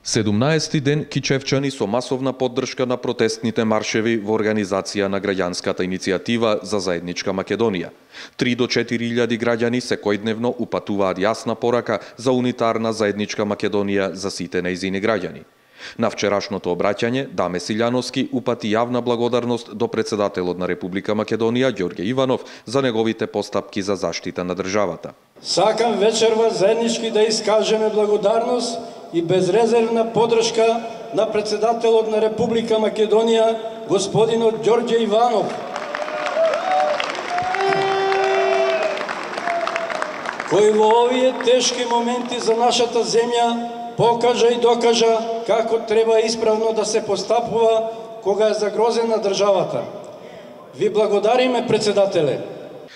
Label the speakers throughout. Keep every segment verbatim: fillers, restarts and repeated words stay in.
Speaker 1: седумнаесети ден кичевчани со масовна поддршка на протестните маршеви во организација на граѓанската иницијатива за заедничка Македонија. три до четири илјади граѓани секојдневно упатуваат јасна порака за унитарна заедничка Македонија за сите нејзини граѓани. На вчерашното обраќање Даме Силјановски упати јавна благодарност до председателот на Република Македонија Ѓорѓе Иванов за неговите постапки за заштита на државата.
Speaker 2: Сакам вечерва заеднички да искажеме благодарност и безрезервна поддршка на председателот на Република Македонија господинот Ѓорѓе Иванов, кој во овие тешки моменти за нашата земја покажа и докажа како треба исправно да се постапува кога е загрозена државата. Ви благодариме, председателе.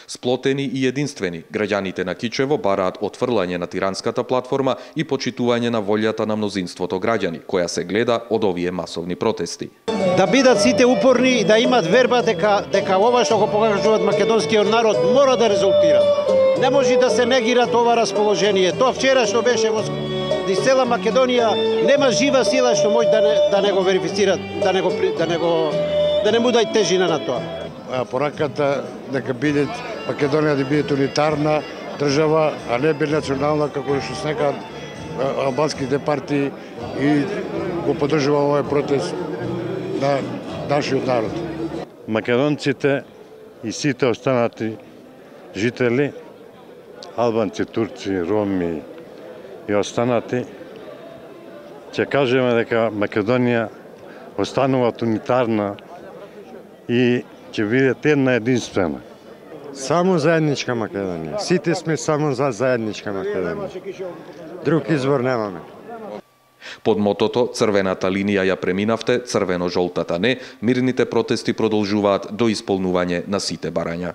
Speaker 1: Сплотени и единствени, граѓаните на Кичево бараат отфрлање на тиранската платформа и почитување на волјата на мнозинството граѓани, која се гледа од овие масовни протести.
Speaker 3: Да бидат сите упорни и да имат верба дека дека ова што го покажуваат македонскиот народ мора да резултира. Не може да се негира ова расположение. Тоа вчера што беше во из цела Македонија нема жива сила што може да не, да не го верифицира, да не го да не го да не му дај тежина на тоа.
Speaker 4: Пораката дека биде Македонија да биде унитарна држава, а не бinacionalна како што снекаат албанските партии и го поддржува овој протест на нашиот народ.
Speaker 5: Македонците и сите останати жители, албанци, турци, роми и останати, ќе кажеме дека Македонија останува унитарна и ќе биде една единствена.
Speaker 6: Само заедничка Македонија. Сите сме само за заедничка Македонија. Друг избор немаме.
Speaker 1: Под мотото "Црвената линија ја преминавте, црвено-жолтата не", мирните протести продолжуваат до исполнување на сите барања.